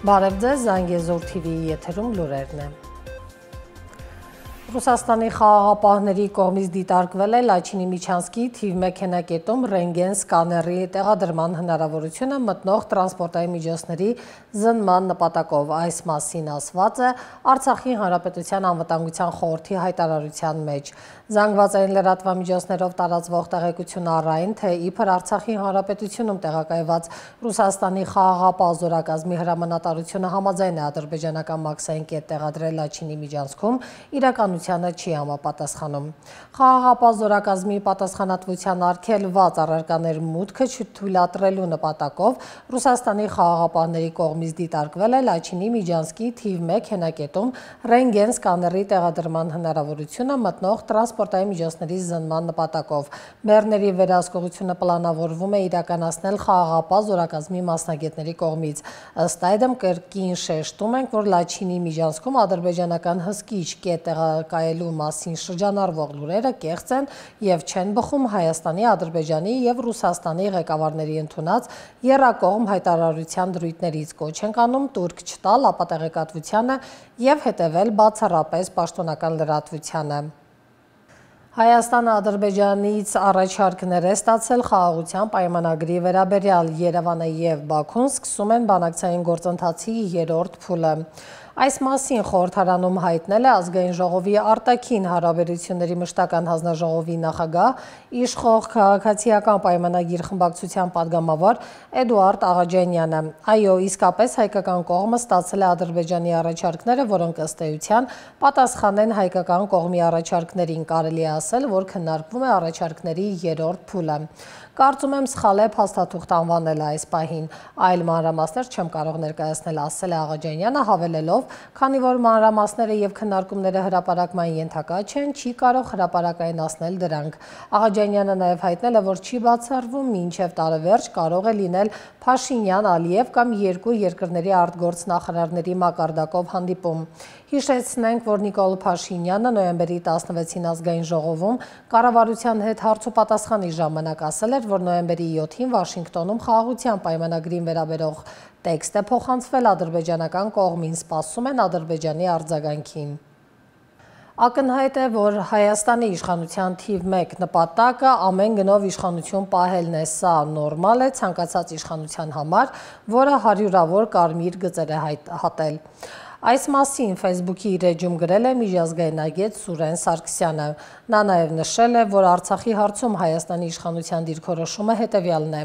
Բարև ձեզ, Զանգեզուր TV-ի եթերում լուրերն են։ Ռուսաստանի խաղաղապահների կողմից դիտարկվել է Լաչինի Միչանսկի թիվ 1 հենակետում ռենտգեն սկաների տեղադրման հնարավորությունը մտնող տրանսպորտային միջոցների զննման նպատակով։ Այս մասին ասված է Արցախի Հանրապետության անվտանգության խորհրդի հայտարարության մեջ։ Զանգվածային լրատվամիջոցներով տարածվող տեղեկությունն առայն, թե իբր Արցախի Հանրապետությունում տեղակայված Ռուսաստանի խաղաղապահ զորակազմի հրամանատարությունը համաձայն է ադրբեջանական մաքսային կետ տեղադրել Լաչինի Միջանցքում, իրականությանը չի համապատասխանում։ Խաղաղապահ զորակազմի պատասխանատվության արգելված առարկաներ մուտքը չթույլատրելու նպատակով Ռուսաստանի խաղաղապահների կողմից դիտարկվել է Լաչինի Միջանցկի թիվ 1 հենակետում ռենտգեն սկաների տեղադրման հնարավորությունը մտնող տրանսպորտային միջոցների զննման նպատակով։ Բեռների վերահսկողությունը պլանավորվում է իրականացնել խաղաղապահ զորակազմի մասնագետների կողմից։ Ըստ այդմ կրկին շեշտում ենք, որ Լաչինի Միջանցքում ադրբեջանական հսկիչ կետ տեղակայելու մասին շրջանառվող լուրերը կեղծ են և չեն բխում Հայաստանի, Ադրբեջանի և Ռուսաստանի ղեկավարների ընդունած եռակողմ հայտարարության դրույթներից։ Կոչ ենք անում տուրք չտալ ապատեղեկատվությանը և հետևել բացառապես պաշտոնական լրատվությանը։ Հայաստանը Ադրբեջանից առաջարկներ է ստացել խաղաղության պայմանագրի վերաբերյալ։ Երևանը և Բաքուն սկսում են բանակցային գործընթացի 3-րդ փուլը։ Այս մասին խորհրդարանում հայտնել է Ազգային ժողովի արտաքին հարաբերությունների մշտական հանձնաժողովի նախագահ, իշխող քաղաքացիական պայմանագիր խմբակցության падգամավոր Էդուարդ Աղաջանյանը։ Այո, իսկապես հայկական կողմը ստացել է Ադրբեջանի առաջարկները, որոնք ըստ էության պատասխան են հայկական կողմի առաջարկներին։ Կարելի է ասել, որ քննարկվում է առաջարկների 3-րդ փուլը։ Կարծում եմ սխալ է փաստաթուղթ անվանել այս պահին։ Այլ մանրամասներ չեմ կարող ներկայացնել, ասել է Աղաջանյանը, հավելելով, քանի որ մանրամասները և քննարկումները հրապարակման ենթակա չեն, չի կարող հրապարակայնացնել դրանք։ Աղաջանյանը նաև հայտնել է, որ չի բացառվում մինչև տարեվերջ կարող է լինել Փաշինյան-Ալիև կամ երկու երկրների արտգործնախարարների մակարդակով հանդիպում։ Հիշեցնենք, որ Նիկոլ Փաշինյանը նոյեմբերի 16-ին Ազգային ժողովում կառավարության հետ հարցուպատասխանի ժամանակ ասել էր, որ նոյեմբերի 7-ին Վաշինգտոնում խաղաղության պայմանագրին վերաբերող տեքստ է փոխանցվել ադրբեջանական կողմին, սպասում են Ադրբեջանի արձագանքին։ Ակնհայտ է, որ Հայաստանի իշխանության թիվ 1 նպատակը ամեն գնով իշխանություն պահելն է։ Սա նորմալ է ցանկացած իշխանության համար, որը հարյուրավոր կարմիր գծեր է հատել։ Այս մասին Facebook-ի իր էջում գրել է միջազգայնագետ Սուրեն Սարգսյանը։ Նա նաև նշել է, որ Արցախի հարցում Հայաստանի իշխանության դիրքորոշումը հետևյալն է.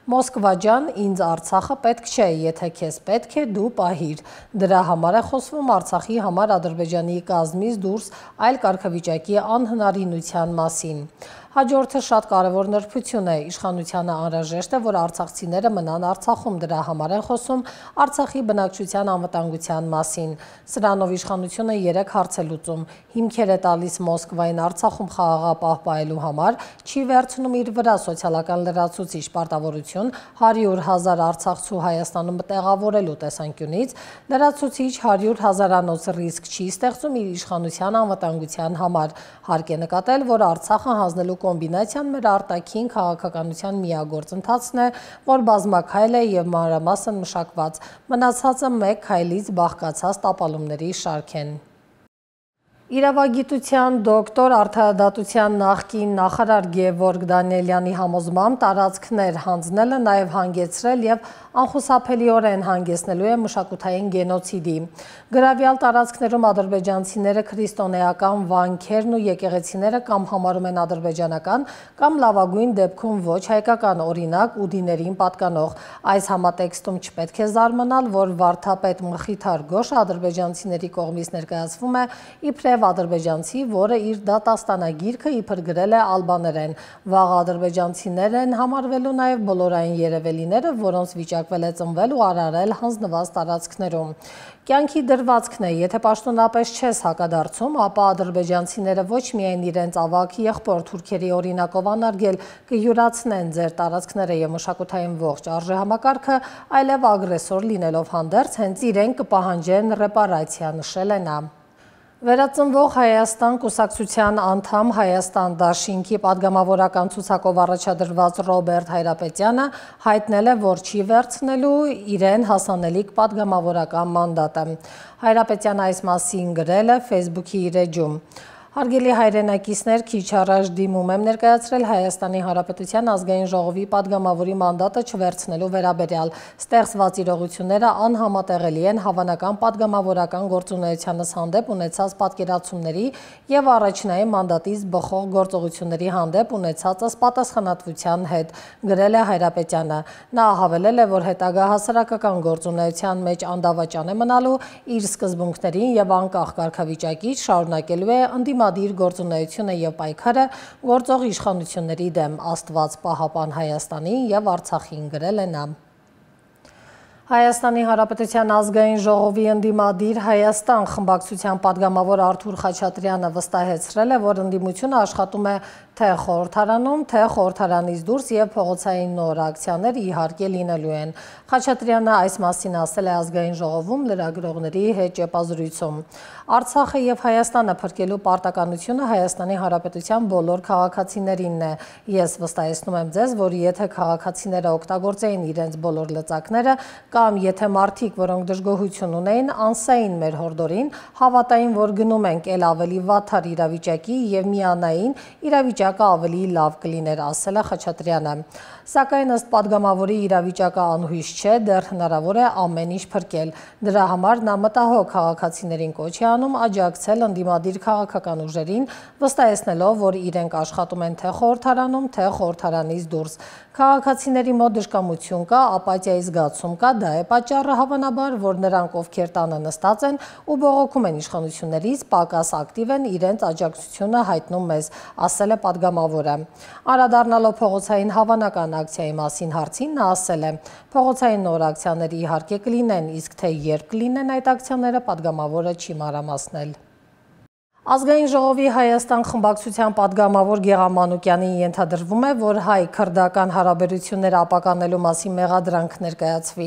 Մոսկվա ջան, ինձ Արցախը պետք չէ, եթե քեզ պետք է, դու պահիր։ Դրա համար է խոսվում Արցախի համար Ադրբեջանի կազմից դուրս այլ կարգավիճակի անհնարինության մասին։ Հաջորդը շատ կարևոր նրբություն է։ Իշխանությանը անհրաժեշտ է, որ արցախցիները մնան Արցախում, դրա համար են խոսում Արցախի բնակչության անվտանգության մասին։ Սրանով իշխանությունը 3 հարց է լուծում։ Հիմքեր է տալիս Մոսկվային Արցախում խաղաղապահ պահելու համար, չի վերցնում իր վրա սոցիալական լրացուցիչ պարտավորություն 100,000 արցախցու Հայաստանում տեղավորելու տեսանկյունից, լրացուցիչ 100,000-անոց ռիսկ չի ստեղծում իր իշխանության անվտանգության համար։ Հարկ է նկատել, որ Արցախը հանձնելու կոմբինացիան մեր արտաքին քաղաքականության միակ գործընթացն է, որ բազմաքայլ է և մանրամասն մշակված։ Մնացածը մեկ քայլից բաղկացած տապալումների շարք են։ Իրավագիտության դոկտոր, արդարադատության նախկին նախարար Գևորգ Դանիելյանի համոզմամբ տարածքներ հանձնելը նաև հանգեցրել և անխուսափելիորեն հանգեցնելու է մշակութային գենոցիդի։ Գրավյալ տարածքներում ադրբեջանցիները քրիստոնեական վանքերն ու եկեղեցիները կամ համարում են ադրբեջանական, կամ լավագույն դեպքում ոչ հայկական, օրինակ ուդիներին պատկանող։ Այս համատեքստում չպետք է զարմանալ, որ վարդապետ Մխիթար Գոշը ադրբեջանցիների կողմից ներկայացվում է իբրև ադրբեջանցի, որը իր դատաստանագիրքը իբր գրել է ալբաներեն։ Վաղ ադրբեջանցիներ են համարվելու նաև բոլորային երևելիները, որոնց վիճակվել է ծնվել ու արարել հանձնված տարածքներում։ Կյանքի դրվածքն է, եթե պաշտոնապես չես հակադարձում, ապա ադրբեջանցիները ոչ միայն իրենց ավագ եղբոր թուրքերի օրինակով անարգել կյուրացնեն ձեր տարածքները և մշակութային ողջ արժեհամակարգը, այլև ագրեսոր լինելով հանդերձ հենց իրենք կպահանջեն ռեպարացիա, նշել է նա։ Վերածնվող Հայաստան կուսակցության անդամ Հայաստան դաշինքի պատգամավորական ցուցակով առաջադրված Ռոբերտ Հայրապետյանը հայտնել է, որ չի վերցնելու իրեն հասանելիք պատգամավորական մանդատը։ Հայրապետյանը այս մասին գրել է Facebook-ի իր էջում։ Հարգելի հայրենակիցներ, քիչ առաջ դիմում եմ ներկայացրել Հայաստանի Հանրապետության ազգային ժողովի պատգամավորի մանդատը չվերցնելու վերաբերյալ։ Ստեղծված իրողությունները անհամատեղելի են հավանական պատգամավորական գործունեությանս հանդեպ ունեցած պատկերացումների եւ առաջնային մանդատից բխող գործողությունների հանդեպ ունեցածս պատասխանատվության հետ, գրել է Հայրապետյանը։ Նա հավելել է, որ հետագա հասարակական գործունեության մեջ անդավաճան է մնալու իր սկզբունքներին եւ անկախ կարգավիճակից շարունակելու է ընդդիմադիր գործունեությունը եւ պայքարը գործող իշխանությունների դեմ, Աստված պահապան Հայաստանին եւ Արցախին, գրել է նա։ Հայաստանի Հանրապետության ազգային ժողովի ընդդիմադիր Հայաստան խմբակցության պատգամավոր Արթուր Խաչատրյանը վստահեցրել է, որ ընդդիմությունը աշխատում է թե խորհրդարանում, թե խորհրդարանից դուրս եւ փողոցային նոր ակցիաներ իհարկե լինելու են։ Խաչատրյանը այս մասին ասել է ազգային ժողովում լրագրողների հետ ճեպազրույցում։ Արցախը եւ Հայաստանը փրկելու պարտականությունը Հայաստանի Հանրապետության բոլոր քաղաքացիներինն է։ Ես վստահեցնում եմ ձեզ, որ եթե քաղաքացիները օգտագործեին իրենց բոլոր լծակները, կամ եթե մարդիկ, որոնք դժգոհություն ունեին, անսային մեր հորդորին, հավատային, որ գնում ենք էլ ավելի վատթար իրավիճակի եւ միանային, իրավիճակը ավելի լավ կլիներ, ասել է Խաչատրյանը։ Սակայն ըստ պատգամավորի իրավիճակը անհույս չէ, դեռ հնարավոր է ամեն ինչ փրկել։ Դրա համար նա մտահոգ քաղաքացիներին կոչ է անում աջակցել ընդդիմադիր քաղաքական ուժերին, վստահեցնելով, որ իրենք աշխատում են թե խորհրդարանում, թե խորհրդարանից դուրս։ Քաղաքացիների մոտ դժկամություն կա, ապաթիայի զգացում կա, դա է պատճառը հավանաբար, որ նրանք, ովքեր տանը նստած են ու բողոքում են իշխանություններից, պակաս ակտիվ են իրենց աջակցությունը հայտնում մեզ, ասել է պատգամավորը։ Անդրադառնալով փողոցային հավանական ակցիայի մասին հարցին, նա ասել է. փողոցային նոր ակցիաներ իհարկե կլինեն, իսկ թե երբ կլինեն այդ ակցիաները, պատգամավորը չի մանրամասնել։ Ազգային ժողովի Հայաստան խմբակցության պատգամավոր Գեղամ Մանուկյանին ենթադրվում է, որ հայ-քրդական հարաբերությունները ապականելու մասին մեղադրանք ներկայացվի։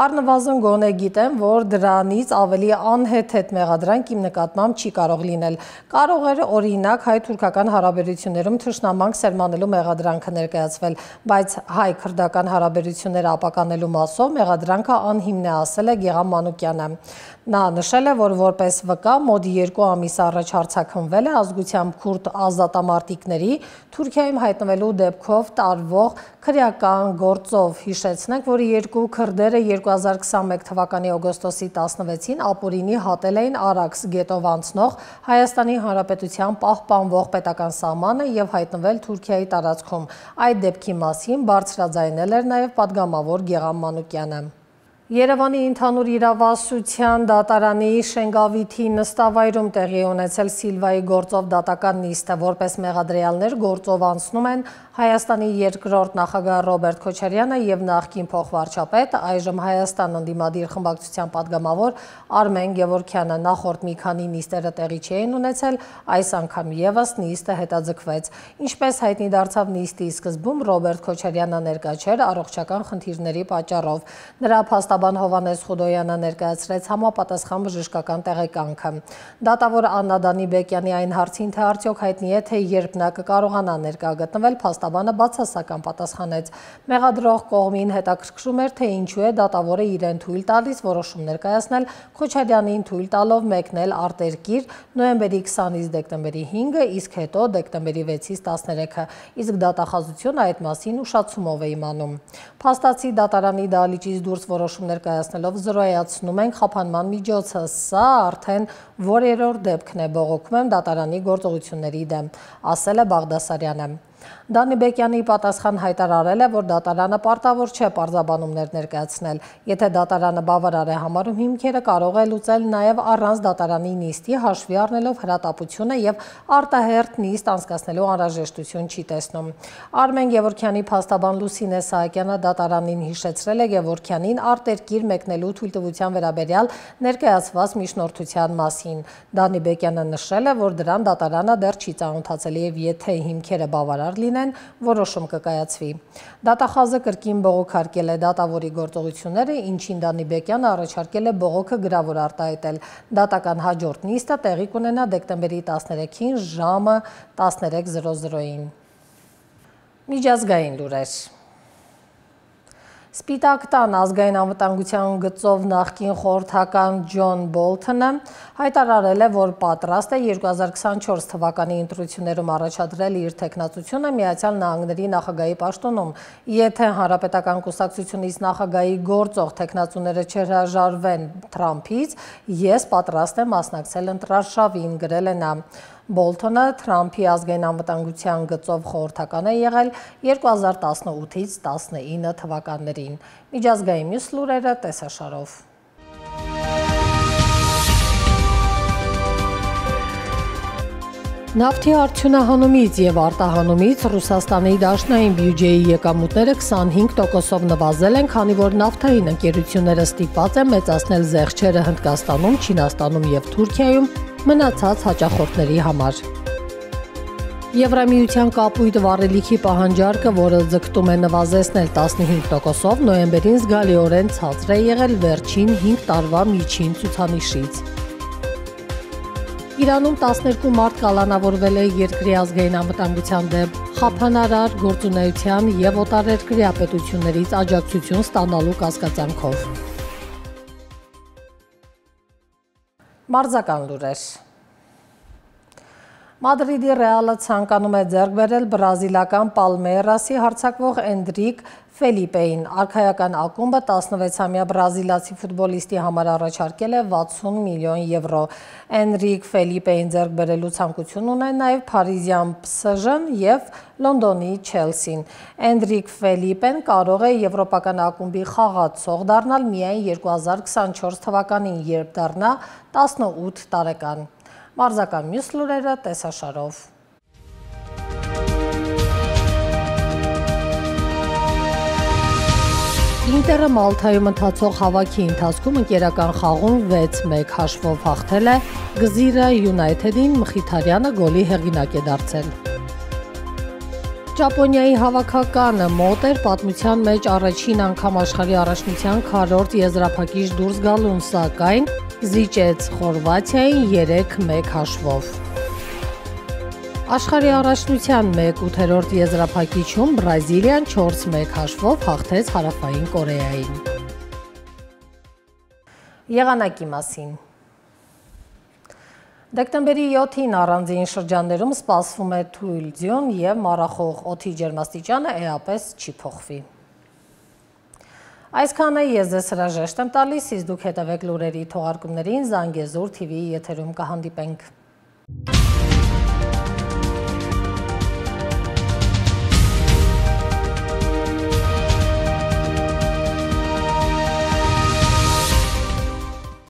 Առնվազն գոնե գիտեմ, որ դրանից ավելի անհեթեթ մեղադրանք իմ նկատմամբ չի կարող լինել։ Կարող էր օրինակ հայ-թուրքական հարաբերություններում թշնամանք սերմանելու մեղադրանքը ներկայացվել, բայց հայ-քրդական հարաբերությունները ապականելու մասով մեղադրանքը անհիմն է, ասել է Գեղամ Մանուկյանը։ Նա նշել է, որ որպես վկա մոտ 2 ամիս առաջ արձակնվել է ազգությամբ քուրդ ազատամարտիկների Թուրքիայում հայտնվելու դեպքով տարվող քրեական գործով։ Հիշեցնենք, որ երկու քրդերը 2021 թվականի օգոստոսի 16-ին ապօրինի հատել էին Արաքս գետով անցնող Հայաստանի Հանրապետության պահպանվող պետական սահմանը եւ հայտնվել Թուրքիայի տարածքում։ Այդ դեպքի մասին բարձրաձայնել էր նաեւ պատգամավոր Գեղամ Մանուկյանը։ Երևանի ընդհանուր իրավասության դատարանի Շենգավիթի նստավայրում տեղի ունեցել Սիլվայի գործով դատական նիստը, որպես մեղադրյալներ գործով անցնում են Հայաստանի երկրորդ նախագահ Ռոբերտ Քոչարյանը եւ նախկին փոխվարչապետ, այժմ Հայաստան ընդդիմադիր խմբակցության պատգամավոր Արմեն Գևորգյանը։ Նախորդ մի քանի նիստերը տեղի չէին ունեցել, այս անգամ եւս նիստը հետաձգվեց։ Ինչպես հայտնի դարձավ նիստի սկզբում, Ռոբերտ Քոչարյանը ներկա չէր առողջական խնդիրների պատճառով։ Նրա փաստաբան Հովհաննես Խուդոյանը ներկայացրեց համապատասխան բժշկական տեղեկանքը։ Դատավոր Աննա Դանիբեկյանի այն հարցին, թե արդյոք հայտնի է, թե երբ նա կկարողանա ներկա գտնվել, փաստաբանը բացասական պատասխանեց։ Մեղադրող կողմին հետաքրքրում էր, թե ինչու է դատավորը իրեն թույլ տալիս որոշում ներկայացնել Քոչարյանին թույլ տալով մեկնել արտերկիր նոյեմբերի 20-ից դեկտեմբերի 5-ը, իսկ հետո դեկտեմբերի 6-ից 13-ը, իսկ դատախազությունը այդ մասին ուշացումով է իմանում։ Փաստացի դատարանի դահլիճից դուրս որոշում ներկայացնելով զրոյացնում ենք խափանման միջոցը, սա արդեն որերորդ դեպքն է, բողոքում եմ դատարանի գործողությունների դեմ, ասել է Բաղդասարյանը։ Դանիբեկյանի պատասխան հայտարարել է, որ դատարանը պարտավոր չէ պարզաբանումներ ներկայացնել։ Եթե դատարանը բավարար է համարում հիմքերը, կարող է լուծել նաև առանց դատարանի նիստի, հաշվի առնելով հրատապությունը եւ արտահերթ նիստ անցկացնելու անհրաժեշտություն չի տեսնում։ Արմեն Գևորգյանի փաստաբան Լուսինե Սահակյանը դատարանին հիշեցրել է Գևորգյանին արտերկիր մեկնելու թույլտվության վերաբերյալ ներկայացված միջնորդության մասին։ Դանիբեկյանը նշել է, որ դրան դատարանը դեռ չի ծանոթացել եւ եթե հիմքերը բավարար հավասարար լինեն, որոշում կկայացվի։ Դատախազը կրկին բողոքարկել է դատավորի գործողությունները, ինչին Դանիբեկյանը առաջարկել է բողոքը գրավոր արտահայտել։ Դատական հաջորդ նիստը տեղի կունենա դեկտեմբերի 13-ին ժամը 13:00-ին։ Միջազգային լուրեր։ Սպիտակ տան ազգային անվտանգության գծով նախկին խորհրդական Ջոն Բոլթոնը հայտարարել է, որ պատրաստ է 2024 թվականի ընտրություններում առաջադրել իր թեկնածությունը Միացյալ Նահանգների նախագահի պաշտոնում։ Եթե Հանրապետական կուսակցությունից նախագահի գործող թեկնածուները չհրաժարվեն Թրամփից, ես պատրաստ եմ մասնակցել ընտրարշավին, գրել է նա։ Բոլթոնը Թրամփի ազգային անվտանգության գծով խորհրդական է եղել 2018-ից 19 թվականներին։ Միջազգային մյուս լուրերը տեսաշարով։ Նավթի արդյունահանումից եւ արտահանումից Ռուսաստանի դաշնային բյուջեի եկամուտները 25%-ով նվազել են, քանի որ նավթային ընկերությունները ստիպված են մեծացնել զեղչերը Հնդկաստանում, Չինաստանում եւ Թուրքիայում մնացած հաճախորդների համար։ Եվրամիության կապույտ վառելիքի պահանջարկը, որը ձգտում է նվազեցնել 15%-ով, նոյեմբերին զգալիորեն ցածր է եղել վերջին 5 տարվա միջին ցուցանիշից։ Իրանում 12 մարդ կալանավորվել է երկրի ազգային անվտանգության դեմ խափանարար գործունեության եւ օտարերկրյա պետություններից աջակցություն ստանալու կասկածանքով։ Մարզական լուրեր։ Մադրիդի Ռեալը ցանկանում է ձեռք բերել բրազիլական Պալմեյրասի հարձակվող Էնդրիկ Ֆելիպեին։ Արքայական ակումբը 16-ամյա բրազիլացի ֆուտբոլիստի համար առաջարկել է 60 միլիոն եվրո։ Էնդրիկ Ֆելիպեին ձեռք բերելու ցանկություն ունեն նաև Փարիզյան PSG-ն եւ Լոնդոնի Չելսին։ Էնդրիկ Ֆելիպեն կարող է եվրոպական ակումբի խաղացող դառնալ միայն 2024 թվականին, երբ դառնա 18 տարեկան։ Մարզական մյուս լուրերը տեսաշարով։ Ինտերը Մալթայում ընթացող հավաքի ընթացքում ընկերական խաղում 6-1 հաշվով հաղթել է Գզիրը Յունայթեդին, Մխիթարյանը գոլի հեղինակ է դարձել։ Ճապոնիայի հավաքականը մոտ էր պատմության մեջ առաջին անգամ աշխարհի առաջնության քառորդ եզրափակիչ դուրս գալուն, սակայն զիջեց Խորվաթիային 3-1 հաշվով։ Աշխարհի առաջնության 1/8 եզրափակիչում Բրազիլիան 4-1 հաշվով հաղթեց Հարավային Կորեային։ Եղանակի մասին։ Դեկտեմբերի 7-ին առանձին շրջաններում սպասվում է թույլ ձյուն եւ մառախող, օդի ջերմաստիճանը էապես չի փոխվի։ Այսքանը ես ձեզ հրաժեշտ եմ տալիս, իսկ դուք հետևեք լուրերի թողարկումներին Զանգեզուր TV եթերում կհանդիպենք։